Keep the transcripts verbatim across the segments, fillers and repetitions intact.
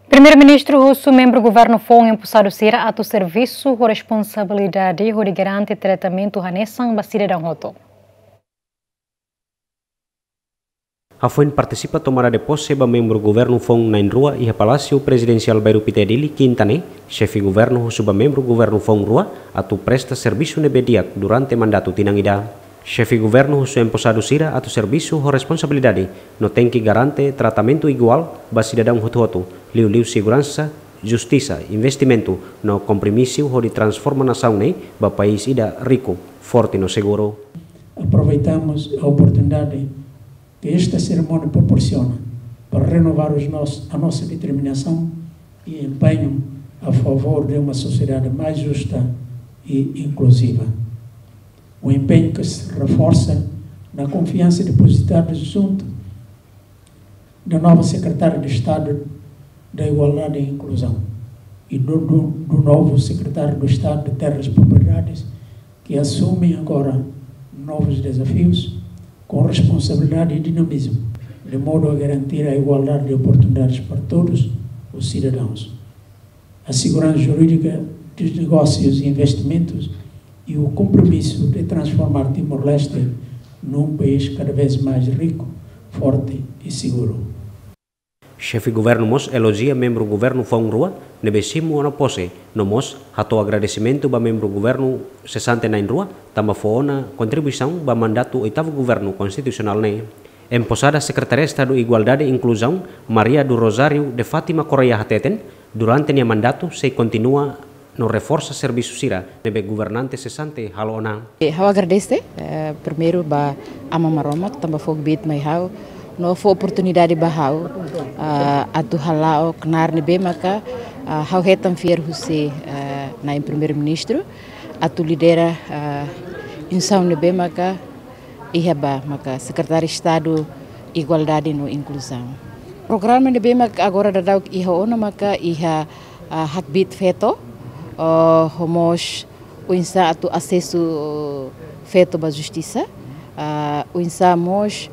Primeiru-Ministru husu membru governu foun emposadu sira atu servisu ho responsabilidade hodi garante tratamentu hanesan ba sidadaun hotu. Hafoin partisipa tomada de pose ba membru governu foun na'in-rua iha Palásiu Prezidensiál Bairru Pité Dili, Kinta ne'e, xefe governu husu ba membru governu foun rua atu presta servisu ne'ebé di'ak durante mandatu tinan ida. Xefe governu husu emposadu sira atu servisu ho responsabilidade no tenke garante tratamentu iguál ba sidadaun hotu-hotu, liuliu seguransa, justisa, investimentu no kompromisu hodi transforma nasaun ne'e ba país ida riku, forte no seguru. Aproveitamos a oportunidade que esta cerimónia proporciona para renovar os nos-, a nossa determinação e empenho a favor de uma sociedade mais justa e inclusiva. Um empenho que se reforça na confiança depositada junto da nova Secretária de Estado da Igualdade e Inclusão e do, do, do novo Secretário de Estado de Terras e Propriedades, que assumem agora novos desafios com responsabilidade e dinamismo, de modo a garantir a igualdade de oportunidades para todos os cidadãos, a segurança jurídica dos negócios e investimentos e o compromisso de transformar Timor-Leste num país cada vez mais rico, forte e seguro. Xefe governu mós elojia membru governu foun rua ne'ebé simu ona pose, no mós hato'o agradesimentu ba membru governu sesante na'in-rua tanba fó ona kontribuisaun ba mandatu oitavu governu konstitusionál ne'e. Emposada Sekretária Estadu Igualdade e Inkluzaun, Maria do Rosário de Fátima Correia hateten, durante nia mandatu sei kontinua no reforsa servisu sira ne'ebé governante sesante halo ona. E ha'u agradese, eh, primeiru ba Aman Maromak tanba fó kbiit mai ha'u, no fó oportunidade ba ha'u, ah, atu hala'o knaar ne'ebé maka, ah, ha'u hetan fiar husi, eh, na'in Primeiru-Ministru, atu lidera, ah, instituisaun ne'ebé maka iha ba maka Sekretáriu Estadu Igualdade no Inkluzaun. Programa ne'ebé maka agora daudaun iha ona maka iha, ah, hakbiit feto, oh, ho mós oinsá atu asesu feto ba justisa, ah, oinsá mós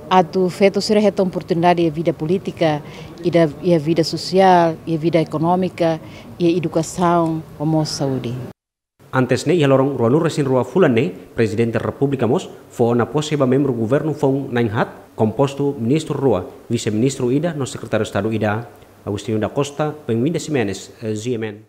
atu feto sira hetan oportunidade iha vida polítika, ida, iha vida sosiál, iha vida ekonómika, iha edukasaun, ho mós saúde. Antes ne'e, iha loron ruanulu-resin-rua fulan ne'e, Prezidente Repúblika mós fó ona pose ba membru governu foun na'in-haat, kompostu ministru rua, vise-ministru ida no sekretáriu Estadu ida. Agostinho da Costa, Benvinda Ximenes, eh, G M N.